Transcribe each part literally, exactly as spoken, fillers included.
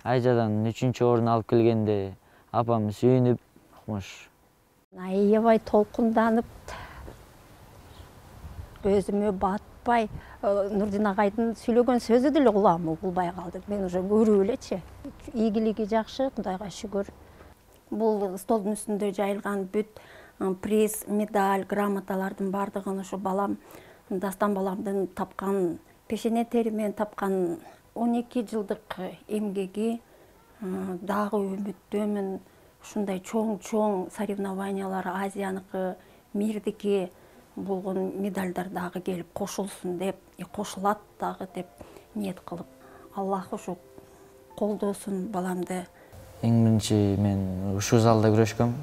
Айжадан үчүнчү орун алып келгенде апам сүйүнүп укмуш. Аябай толкунданып, өзүмө батпай, Нурдин агайдын сүйлөгөн сөзү деле кулагыма угулбай калды. Мен уже көрүп элечи. Ийгилиги жакшы, Кудайга шүгүр. Бул столдун үстүндө жайылган бүт приз, медаль, грамоталардын бардыгын ушу балам, Дастан баламдын тапкан, пешене терімен тапкан он эки жылдык эмгеги, дагы үмүттөмүн. Ушундай чоң-чоң соревнованиялар, Азияныкы, мирдики болгон медальдар дагы келип кошулсун деп, кошулат дагы деп ниет кылып, Аллах ушу колдосун баламды. Эң биринчи мен ушул залда күрөшкөм.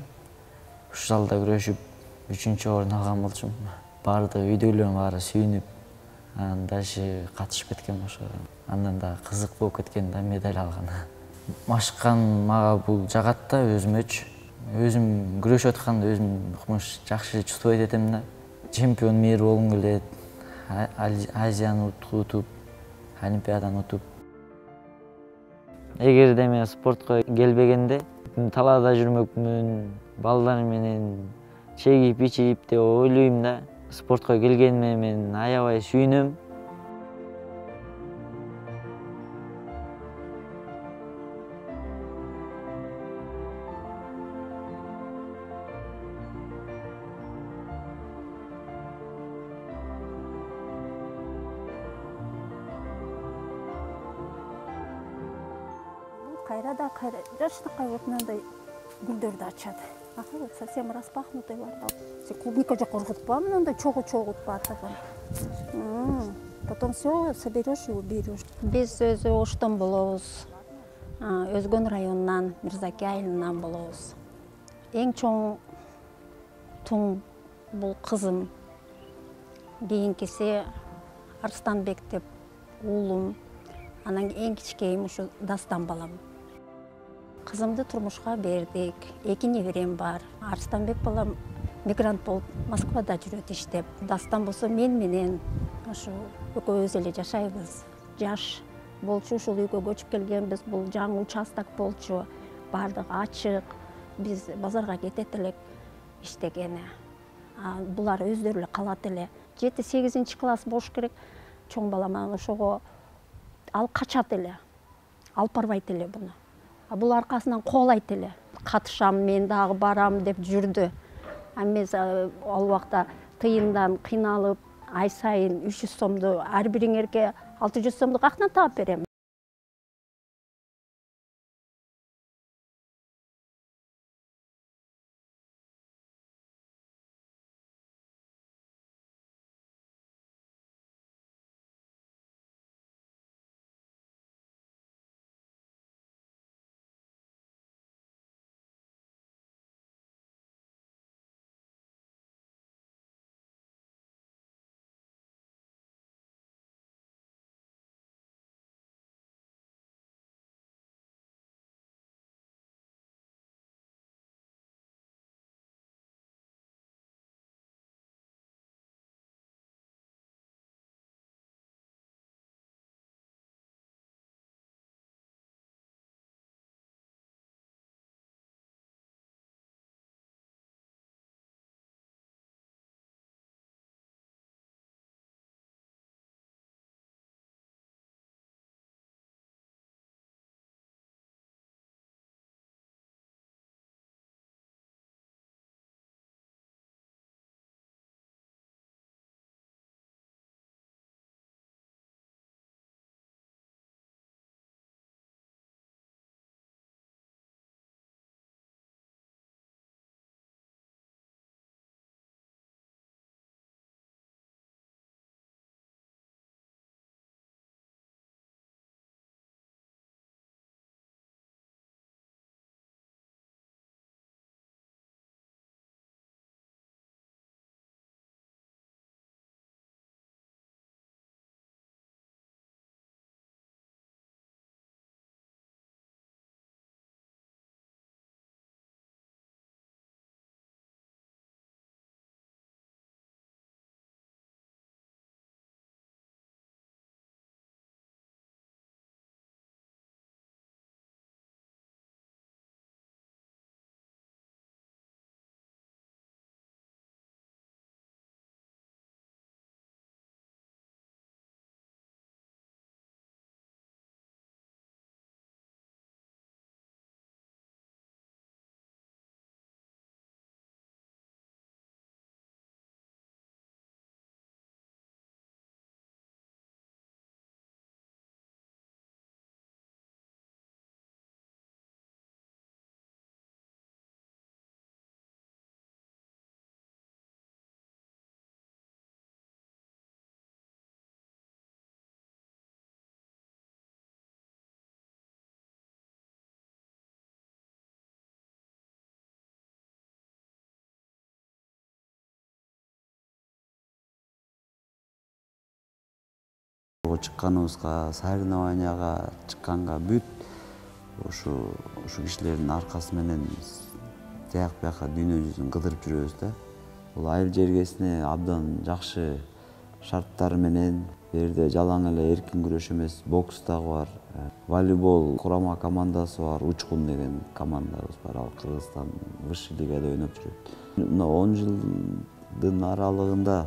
Ушул залда күрөшүп үчүнчү орун алган болчумун. Баардык үйдөгүлөрүм баары сүйүнүп, анан дальше катышып кеткем ошо. Андан да кызык болуп кеткен да медаль алган. Машыккан мага бул жагат да өзүмөчү. Өзүм күрөшүп атканда өзүм укмуш жакшы чувствовать этем да. Чемпион мира болгум келет. Азияны утуп, Олимпиаданы утуп. Эгерде мен спортко келбегенде талаада жүрмөкмүн, балдар менен чегип ичип деп ойлойм да. Спортко келгениме мен аябай сүйүнөм. Кайрада кайра жашынакай болуп мындай гүлдөрдү ачат. Ага вот совсем распахнутый бар. Клубника жакка ургутпа, мындай чогуу-чогуу батырган. Потом все соберешь и уберешь. Биз өзү Оштон болобуз. Өзгөн районунан, Мирзаке айылынан болобуз. Эң чоң туң бул кызым. Кийинкиси Арстанбек деп уулум. Анан эң кичинекейим ушу Дастан балам. Кызымды турмушка бердик. Эки неберем бар. Арстанбек балам мигрант болуп Москвада жүрөт иштеп. Дастан болсо мен менен ошо экөөбүз эле жашайбыз. Жаш болчу, ушул үйгө көчүп келгенбиз. Бул жаңы участок болчу. Бардыгы ачык. Биз базарга кетет элек иштегени. Булар өздөрү эле калат эле. жети сегизинчи класс болуш керек. Чоң балам анан ошого ал качат эле. Алып барбайт эле буну. А бул аркасынан коолайт эле. Катышам, мен дагы барам деп жүрдү. А мен ал убакта тыйындан кыйналып, ай сайын үч жүз сомду ар бириңерге алты жүз сомду каяктан таап берем? жолго чыкканыбызга, соревнованияга чыкканга бүт ушу ушу кишилердин аркасы менен тияк бияка дүйнө жүзүн кыдырып жүрөбүз да. Бул айыл жергесине абдан жакшы шарттар менен, бул жерде жалаң эле эркин күрөш эмес, бокс дагы бар, волейбол курама командасы бар, Учкун деген командабыз бар, ал Кыргызстан высший лигада ойноп жүрөт. Мына он жылдын аралыгында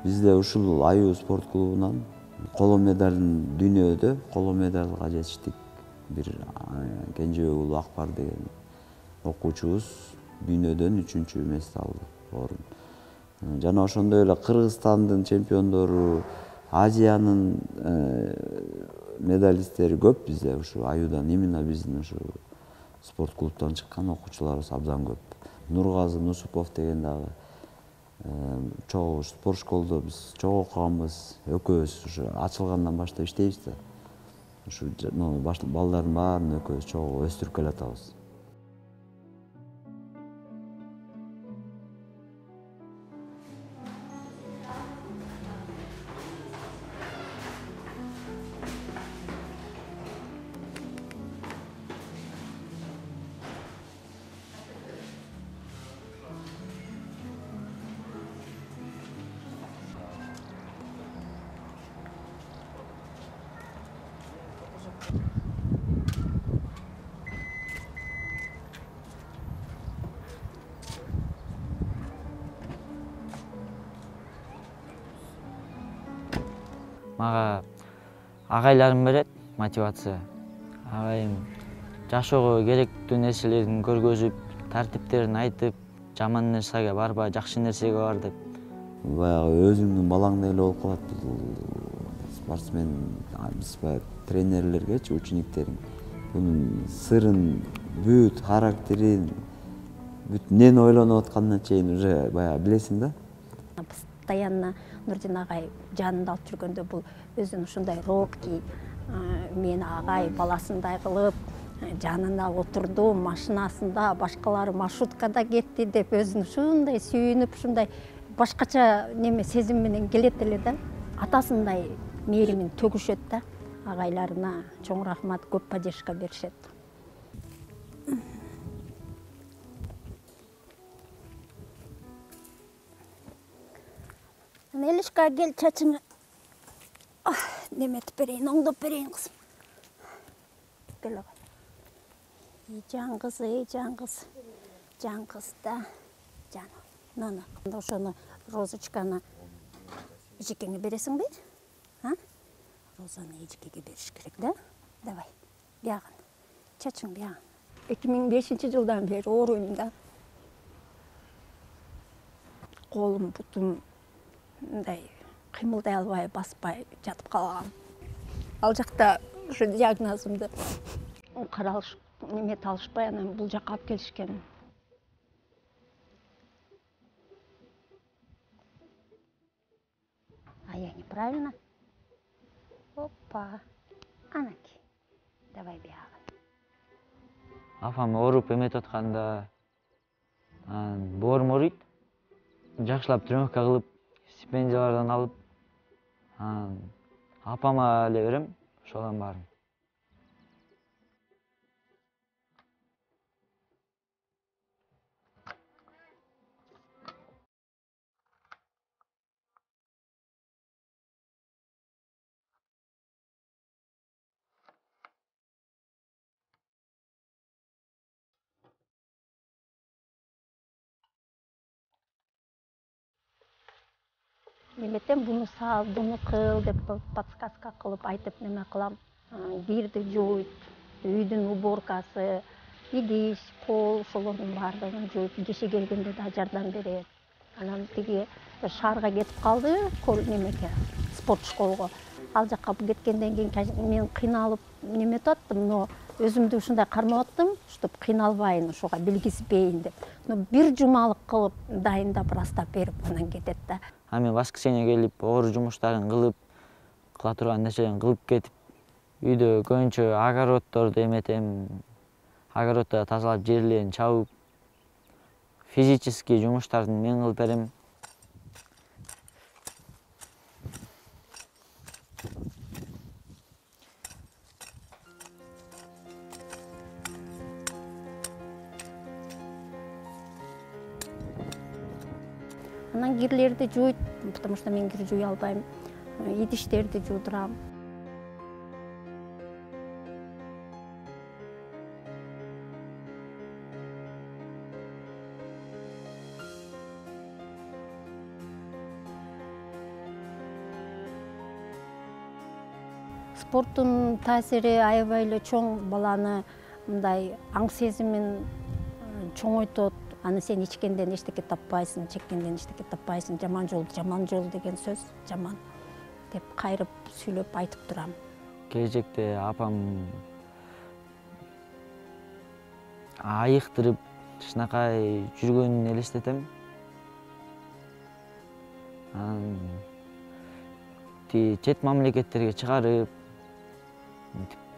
бизде ушул Аюу спорт клубунан коло медалын дүйнөдө коло медалга жетиштик. Бир Кенжебек уулу Акбар деген окуучубуз дүйнөдөн үчүнчү эмести алды, орун. Жана ошондой эле Кыргызстандын чемпиондору, Азиянын медалисттери көп бизде ушу Аюудан, именно биздин ушу спорт клубтан чыккан окуучуларыбыз абдан көп. Нургазы Нусупов деген дагы чогуу спорт школдо биз чогуу окуганбыз, экөөбүз ушу ачылгандан баштап иштейбиз да. Ушу балдардын баарын экөөбүз чогуу өстүрүп келатабыз. Мага агайларым берет мотивация. Агайым жашоого керектүү нерселерин көргөзүп, тартиптерин айтып, жаман нерсеге барба, жакшы нерсеге бар деп. Баягы өзүңдүн балаңдай эле болуп калат бул спортсмен, биз баягы тренерлергечи, учениктериң бунун сырын, бүт характерин, бүт эмнени ойлонуп атканына чейин уже баягы билесиң да. Постоянно Нурдин агай жанында алып жүргөндө бул өзүн ушундай робкий, мени агай баласындай кылып, жанына отурду, машинасында, башкалары маршруткада кетти деп өзүн ушундай сүйүнүп, ушундай башкача неме сезим менен келет эле да. Атасындай мээримин төгүшөт да. Агайларына чоң рахмат, көп поддержка беришет. Элишка, кел чачыңы неметип берейин, оңдоп берейин кызым. Кел агай. И жан кыз, эй жан кыз. Жан кыз да. Жан. Нана. Ошону розочканы эжекеңе бересиң бе? А? Розаны эжекеге бериш керек да? Давай. Бягын. Чачың бягын. эки миң бешинчи жылдан бери ооруйм да. Колум, бутум мындай кыймылдай албай, баспай жатып калгам. Ал жакта ушу диагнозумду каралыш, немет алышпай, анан бул жакка алып келишкен. А я неправильно? Опа. Анаки. Давай бягын. Апам ооруп эметип атканда боорум ооруйт. Жакшылап тренировка кылып, стипендиялардан алып, апама эле берем, ошодан баарын. Неметем буну сал, буну кыл деп подсказка кылып айтып неме кылам. Кирди жууйт, үйдүн уборкасы, идиш, кол, ошолордун баардыгын жууйт. Киши келгенде да жардам берет. Анан тиги шаарга кетип калды, немеге, спорт школго. Ал жакка кеткенден кийин мен кыйналып неметип аттым, но өзүмдү ушундай кармап аттым, чтобы кыйналбайын, ошого билгизбейин деп. Но бир жумалык кылып, дайындап, растап берип анан кетет да. А мен воскресенье келип, оор жумуштарын кылып, кыла турган нерселерин кылып кетип, үйдө көбүнчө огороддорду эметем, огороддо тазалап, жерлерин чабып, физический жумуштардын мен кылып берем. Анан кирлерди жууйт, потому что мен кир жууй албайм. Идиштерди жуудурам. Спорттун таасири аябай эле чоң, баланы мындай аң сезимин чоңойтот. Аны сен ичкенден эчтеке таппайсың, чеккенден эчтеке таппайсың. Жаман жол, жаман жол деген сөз жаман деп кайрып сүйлөп айтып турам. Келечекте апам айыктырып кичинакай жүргөнүн элестетем. Анан чет мамлекеттерге чыгарып,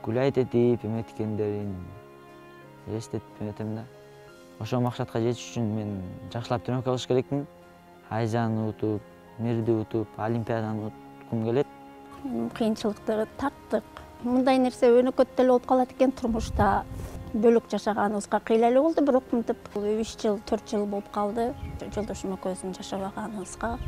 гулять этип эметкендерин элестетип эметем да. Ошол максатка жетиш үчүн мен жакшылап тренировка кылыш керекмин. Айзаны утуп, мирди утуп, олимпиаданы уткум келет. Кыйынчылыкты тарттык. Мындай нерсе өнөкөт деле болуп калат экен турмушта. Бөлүк жашаганыбызга кыйла эле болду, бирок мынтип үч жыл, төрт жыл болуп калды. Жолдошум экөөбүздүн жашабаганыбызга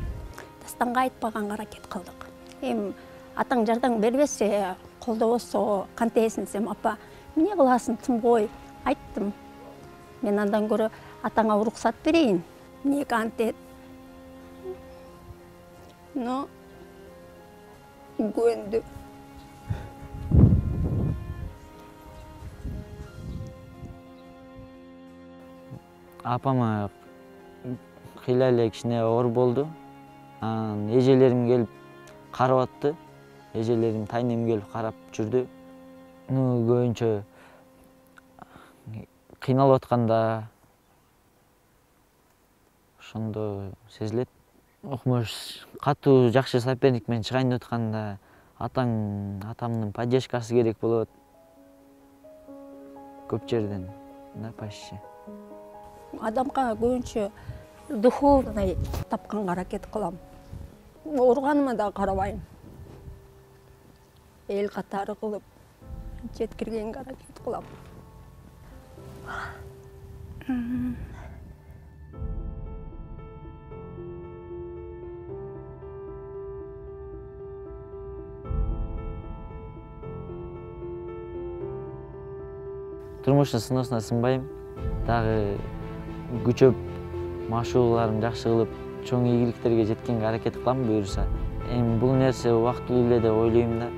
Дастанга айтпаганга аракет кылдык. Эми атаң жардам бербесе, колдобосо кантесин десем, апа, эмне кыласың, тым кой, айттым. Мен андан көрө атаңа уруксат берейин. Эмнеге антет? Но көндү. Апама кыйла эле кичине оор болду. Анан эжелерим келип карап атты. Эжелерим, тайнем келип карап жүрдү. Ну, көбүнчө кыйналып атканда ошондо сезилет. Окмош катуу жакшы соперник менен чыгайын деп атканда атаң, атамдын поддержкасы керек болот. Көп жерден, да, почти. Адамга көбүнчө духовный тапканга аракет кылам. Ооруганыма да карабайм. Эл катары кылып жеткиргенге аракет кылам. Турмуштун сыноосуна сынбайм. Дагы күчөп, машыгууларымды жакшы кылып, чоң ийгиликтерге жеткенге аракет кылам буюрса. Эми бул нерсе убактылуу эле деп ойлойм да.